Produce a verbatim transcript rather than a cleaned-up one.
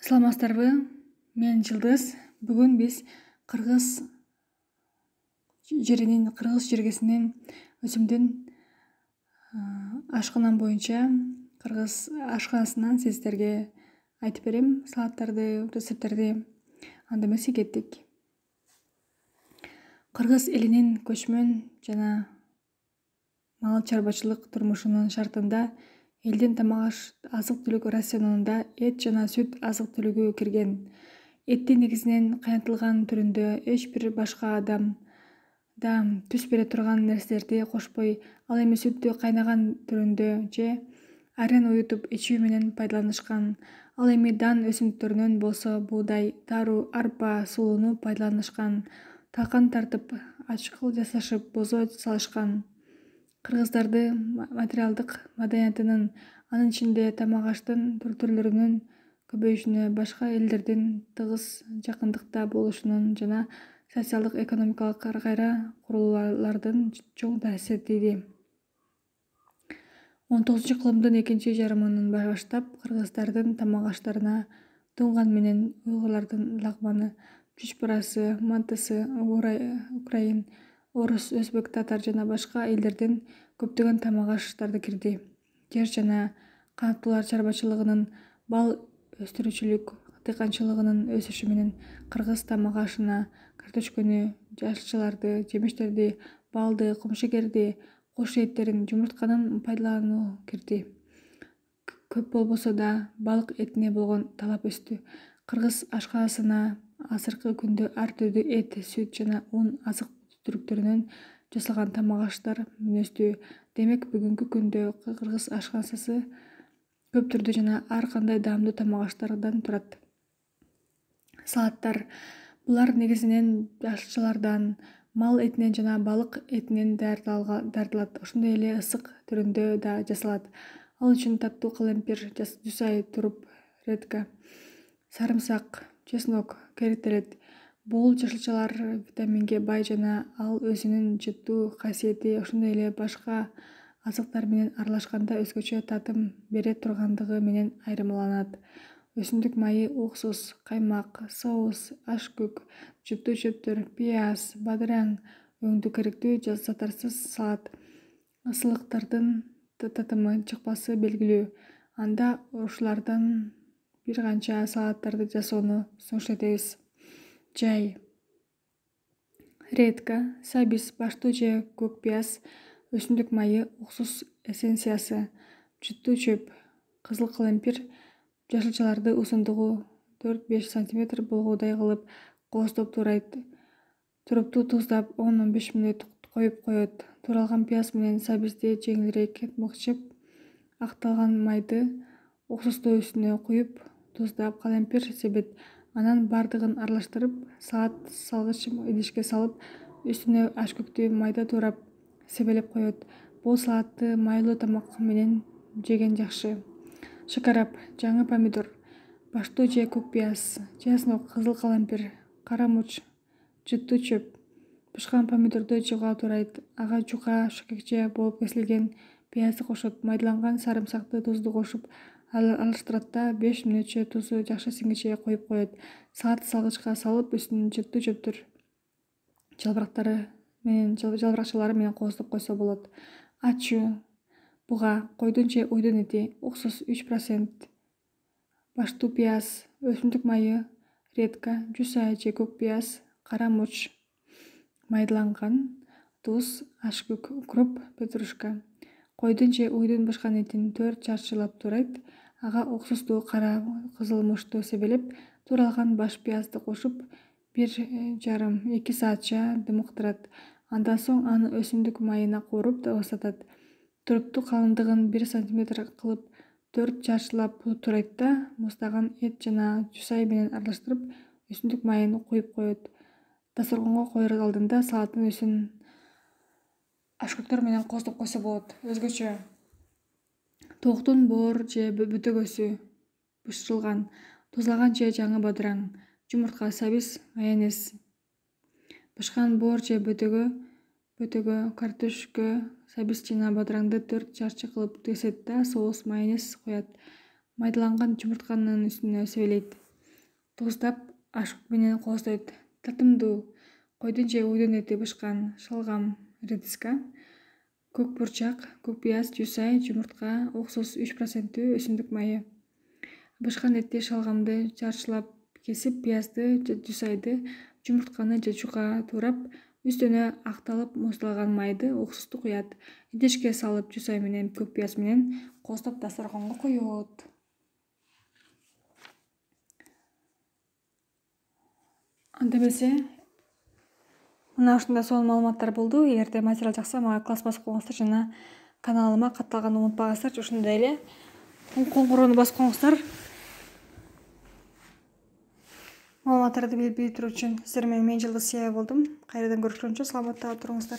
Саламатсыздарбы? Мен Жылдыз. Бүгүн биз Кыргыз жеринин, Кыргыз жергесинин өзүмдүн ашканам боюнча Кыргыз ашканасынан сиздерге айтып берем салаттарды, рецепттерди. Анда эмесе кеттик. Кыргыз элинин көчмөн жана мал чарбачылык турмушунун шартында элдин тамак азык-түлүк рационунда эт жана сүт азык-түлүгү кирген. Этти негизинен кайнатылган түрүндө эч бир башка адам да түс бере турган нерселерди кошпой, ал эми сүттү кайнаган түрүндө же айран уютуп ичүү менен пайдаланышкан. Ал эми дан өсүмдүктөрүнөн болсо буудай, тару, арпа, сулууну пайдаланышкан. Талкан тартып, ачкыл жасашып, бозо салышкан. Кыргыздарды материалдык маданиятынын, анын ичинде тамак-аштын түрлөрүнүн көбөйүшүнө, башка элдердин тыгыз жакындыкта болушунун жана социалдык-экономикалык кайра курулуулардын чоң таасир тийди. он тогузунчу кылымдын экинчи жарымынан баштап кыргыздардын тамак-аштарына тунган менен уйгурлардын лагманы, чучпарасы, мантысы, украин, орус, өзбек, татар жана башка элдердин көптөгөн тамак-аштары кирди. Жер жана канаттуулар чарбачылыгынын, бал өстүрүүчүлүк, дыйканчылыгынын өсүшү менен кыргыз тамак-ашына картөшкөнү, жашылчаларды, жемиштерди, балды, кумшегерди, кош эттерин, жумуртканын пайдалануу кирди. Көп болбосо да балык этине болгон талап өстү. Кыргыз ашканасына азыркы күндө ар түрдүү эт, сүт жана un азык-түлүктөрүнөн жасалган тамак-аштар мүнөздүү. Демек, бүгүнкү күндө Кыргыз ашканасы көп түрдүү жана ар кандай даамдуу тамак-аштардан турат. Салаттар. Булар негизинен жашылчалардан, мал этинен жана балык этинен даярдалат. Ошондой эле ысык түрүндө да жасалат. Ал үчүн таттуу калемпир, жусай, туруп, редька, сарымсак, чеснок керектелет. Бул жашылчалар витаминге бай жана ал өзүнүн жыттуу касиети, ошондой эле башка азыктар менен аралашканда өзгөчө татым бере тургандыгы менен айырмаланат. Өсүмдүк майы, уксус, каймак, соус, ашкөк, жыттуу чөптөр, пияз, бадыраң өңдүү керектүү заттарсыз салат. Ысылыктардын татымы, чыкпасы белгилүү. Анда ушулардан бир канча салаттарды жасоону сунуш этебиз. Жай. Редька, сабиз, баштуу же көк пияз, өсүмдүк майы, уксус эссенциясы, жыттуу чөп, кызыл калемпир, жашылчаларды узундугу төрт-беш сантиметр болгоудай кылып кооздоп туурайт. Турупту туздап он он беш мүнөт коюп коет. Тууралган пияз менен сабизди жеңилирээк мыкчып, акталган майды уксусту үстүнө куюп, туздап, калемпир себет. Анан бардыгын аралаштырып, салат салгыч идишке салып, үстүнө ашкөктү майда туурап, себелеп коет. Бул салатты майлуу тамак менен жеген жакшы. Шакарап, жаңы помидор, баштуу же көк пияз, чеснок, кызыл калемпир, кара мурч, жыттуу чөп. Бышкан помидорду жууга туурайт. Ага жука, шөкөкчө болуп кесилген пиязды кошот. Майдаланган сарымсакты, тузду кошуп аралаштырат да беш мүнөтчө тузу жакшы сиңишке коюп коет. Салат салгычка салып, үстүн жыттуу чөптөр, жалбырактары менен жалбыракчалары менен кооздоп койсо болот. Ачуу. Буга, койдун же уйдун эти, уксус үч процент, баштуу пияз, өсүмдүк майы, редька, жусай же көк пияз, кара мурч, майдаланган, туз, ашкөк, укроп, петрушка. Койдун же уйдун бышкан этин төрт чарчылап туурайт. Ага уксусту, кара кызыл мурчту себелеп, тууралган баш пиязды кошуп, бир жарым эки саатча дымыктырат. Андан соң аны өсүмдүк майына кууруп босотот. Турупту калындыгын бир сантиметр кылып төрт чарчылап туурайт да, муздаган эт жана жусай менен аралаштырып, өсүмдүк майын куюп коет. Дасторгонго коер алдында салаттын үстүн ашкөктөр менен кооздоп койсо болот. Өзгөчө. Токтун боор же бөтөгөсү бышырылган, тузлаган же жаңы бадыраң, жумуртка, сабиз, майонез. Бышкан боор же бөтөгө, бөтөгө, картөшкө, сабиз жана бадыраңды төрт чарчы кылып кесет да соус, майонез коет. Майдаланган жумуртканын үстүнө себелейт. тууздап ашык менен кооздойт. Татымдуу койдун же уйдун эти бышкан, шалгам, редиска, көк бурчак, көк пияз, жусай, жумуртка, уксус үч проценттүү өсүмдүк майы. Бышкан этти, шалгамды жарчылап кесип, пиязды, жусайды, жумуртканы же жука туурап, үстүнө акталып муздалган майды, уксусту куят. Идишке салып, жусай менен көк пияз менен кооздоп дасторгонго коет. Анда эмесе мына ушундай сонун маалыматтар болду. Эгерде материал жакса, мага класс басып коюңуздар жана каналыма катталганды унутпаңыздар. Ошондой эле коңгуроону басып коюңуздар. Маалыматтарды билип туруу үчүн. Сиздер менен мен Жылдыз Сыя болдум. Кайрадан көрүшкөнчө саламатта туруңуздар.